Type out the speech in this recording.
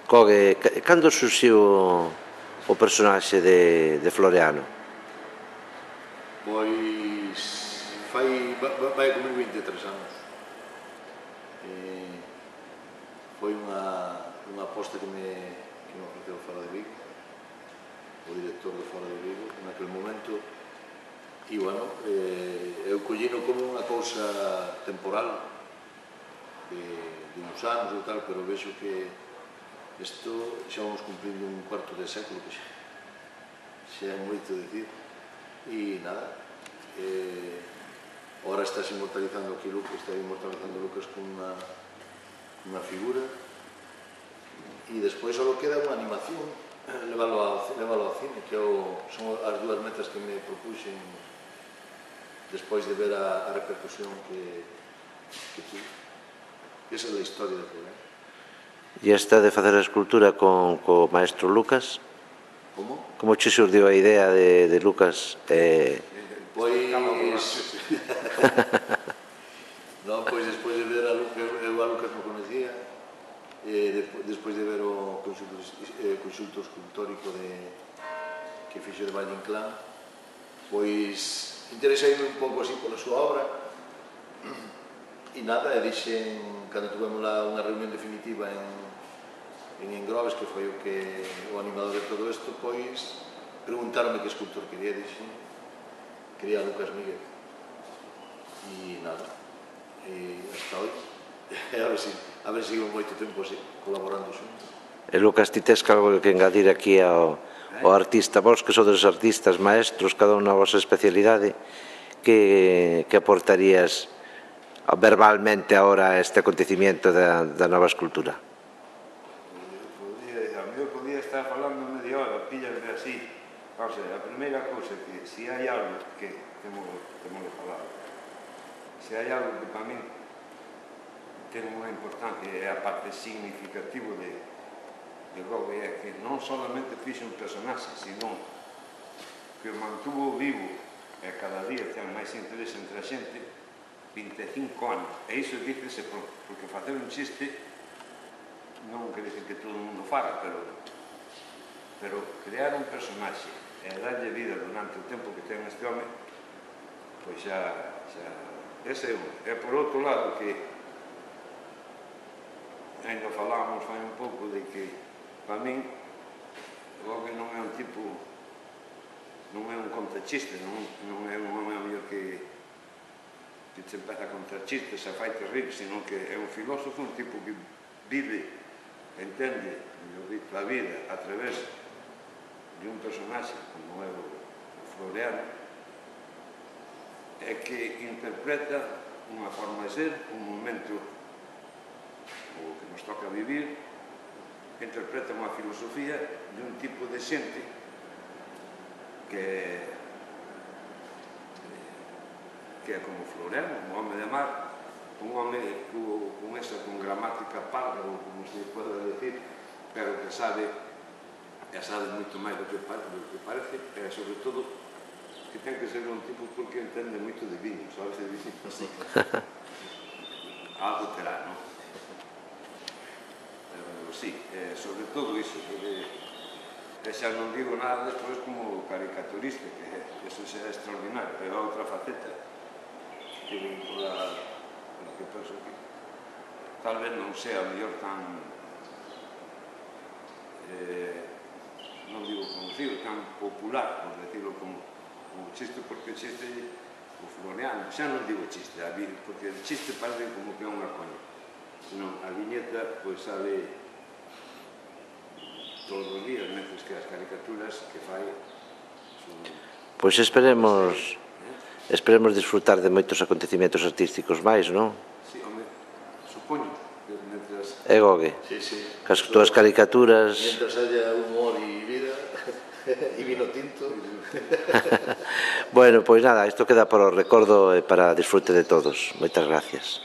Cogue, cando surxiu o personaxe de Floreano? Pois vai comer 23 anos. Foi unha aposta que me ofreceu Fora de Vigo, o director de Fora de Vigo, naquele momento, e, bueno, eu collino como unha cousa temporal de uns anos e tal, pero vexo que isto xa vamos cumplindo un cuarto de século, que xa é moito dicir, e nada, ahora estás inmortalizando aquí Lucas, está inmortalizando Lucas con unha figura, e despois só queda unha animación, leválo ao cine, que son as dúas metas que me propuxen despois de ver a repercusión que tuve. Esa é a historia do programa. E esta de facer a escultura co maestro Lucas? Como? Como che xurdiu a idea de Lucas? Pois... Non, pois despois de ver a Lucas, eu a Lucas non conocía, despois de ver o conxunto escultórico que fixo de Valle Inclán, pois interesei-me un pouco así pola súa obra, e nada, e dixen, cando tuvemos unha reunión definitiva en Engrobes, que foi o animador de todo isto, pois preguntaronme que escultor quería, e dixen, quería a Lucas Miguel. E nada, e hasta hoy, a ver se sigo moito tempo así, colaborando xuntos. E Lucas, ti tes algo que engadir aquí ao artista, vos que sodes artistas, maestros, cada un na vosa especialidade, que aportarías verbalmente ahora a este acontecimiento da nova escultura? A mí eu podía estar falando media hora, píllame así. O sea, a primeira cousa que, se hai algo que temos de falar, se hai algo que para mí ten unha importancia, é a parte significativa de Gogh, é que non solamente fixe un personaxe, sino que o mantuvo vivo e cada día ten máis interés entre a xente 25 anos. E iso dícese porque facer un chiste non quer dizer que todo o mundo faga, pero crear un personaxe e darlle vida durante o tempo que ten este home, pois xa ese é un. E por outro lado, que ainda falábamos fai un pouco de que para min Gogh non é un tipo, non é un contachiste, non é un home que se empeza a contar chistes, a fai terrible, sino que é un filósofo, un tipo que vive, entende a vida a través de un personaxe como é o Floreano, é que interpreta unha forma de ser, un momento o que nos toca vivir, interpreta unha filosofía de un tipo de xente que é como Floreano, un home de mar, un home con gramática parda, ou como se pode decir, pero que sabe moito máis do que parece, e sobre todo que ten que ser un tipo porque entende moito de viño, sabes, de viño así. Algo terá, non? Pero sí, sobre todo iso, e xa non digo nada despois como caricaturista, que eso xa é extraordinario, pero a outra faceta que vincula a que penso que tal vez non sea mellor tan non digo conocido, tan popular, por decirlo como chiste, porque o chiste o Floreano, xa non digo chiste, porque o chiste parece como que é unha coña, senón a viñeta pois sale todos os días, mentres que as caricaturas que fai son... Pois esperemos disfrutar de moitos acontecimientos artísticos máis, non? Sí, home, supoño que mentras... É Gogh? Sí. Cas túas caricaturas... Mentras haya humor e vida, e vino tinto... Bueno, pois nada, isto queda para o recordo e para disfrute de todos. Moitas gracias.